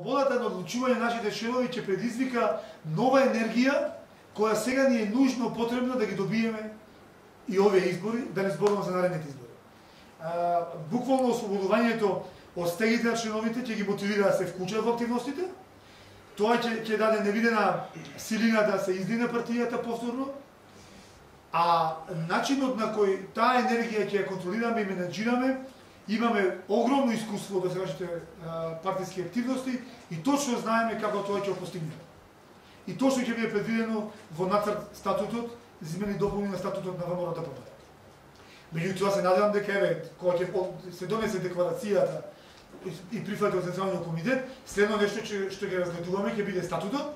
Слободата на одлучување на нашите членови ќе предизвика нова енергија која сега ни е нужно потребна да ги добиеме и овие избори, да не зборувам за наредните избори. Буквално ослободувањето од стегите на членовите ќе ги мотивира да се вклучат во активностите. Тоа ќе даде невидена силина да се издигне партијата повторно, а начинот на кој таа енергија ќе ја контролираме и менеджираме, имаме огромно искуство да се вашите партиски активности и точно знаеме како тоа ќе го постигнеме. И точно ќе биде предвидено во нацрт статутот, измени и дополни на статутот на ВМРО-ДПМН. Меѓутоа се надевам дека кога ќе се донесе декларацијата и прифати од Централниот комитет, следно нешто што ќе разгледуваме ќе биде статутот,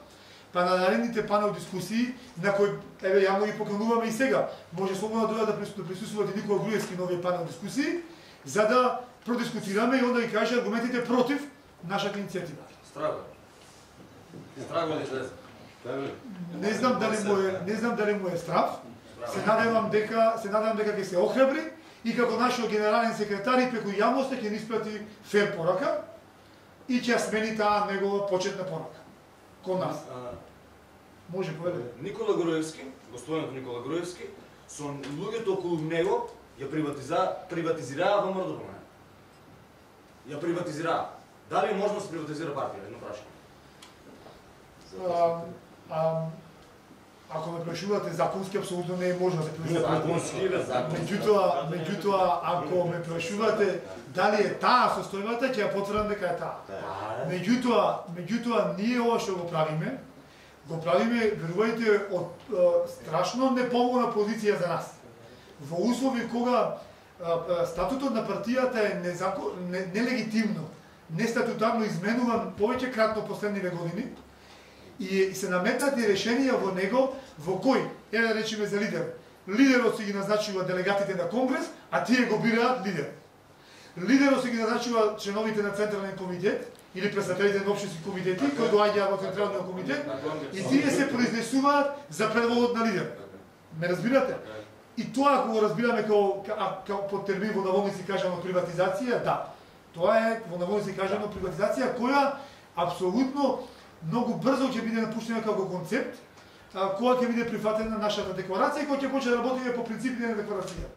па на наредните панел дискусии на кои јавно ги покануваме и сега. Може слободно да присуствуват и Никола Груевски на овие панел дискусии, за да продискутираме и онда ги каже аргументите против нашата иницијатива. Страго. Страго ли излезе? Не знам дали му е страв. Се надевам дека ќе се охрабри и како нашиот генерален секретар и преку јавноста ќе ни испрати фер порака и ќе ја смени таа негова почетна порака кон нас. Може поведе. Никола Груевски, господинот Никола Груевски, со луѓето околу него ја приватизираа ВМРО-ДПМН. Ја приватизираа. Дали е можно да се приватизира партија? Едно прашање. Ако ме прашувате законски, апсолутно не е можно да се приватизира. Меѓутоа, ако ме прашувате дали е таа состојбата, ќе ја потврдам дека е таа. Меѓутоа, ние ова што го правиме, верувајте, од страшно неповолна позиција за нас. Во услови кога статутот на партијата е нелегитимно, нестатутарно изменуван повеќе кратно последниве години, и се наметнати решенија во него, во кој, да речеме за лидер, лидерот си ги назначува делегатите на Конгрес, а тие го бираат лидер. Лидерот си ги назначува членовите на Централен комитет, или представителите на општински комитети, кои доаѓаат во Централниот комитет, и тие се произнесуваат за предводот на лидер. Ме разбирате? И тоа, ако го разбираме како под термин во наводници кажано приватизација, да. Тоа е во наводници кажано приватизација, која апсолутно многу брзо ќе биде напуштена како концепт, кога ќе биде прифатена нашата декларација и кога ќе почне да работиме по принципите на декларација.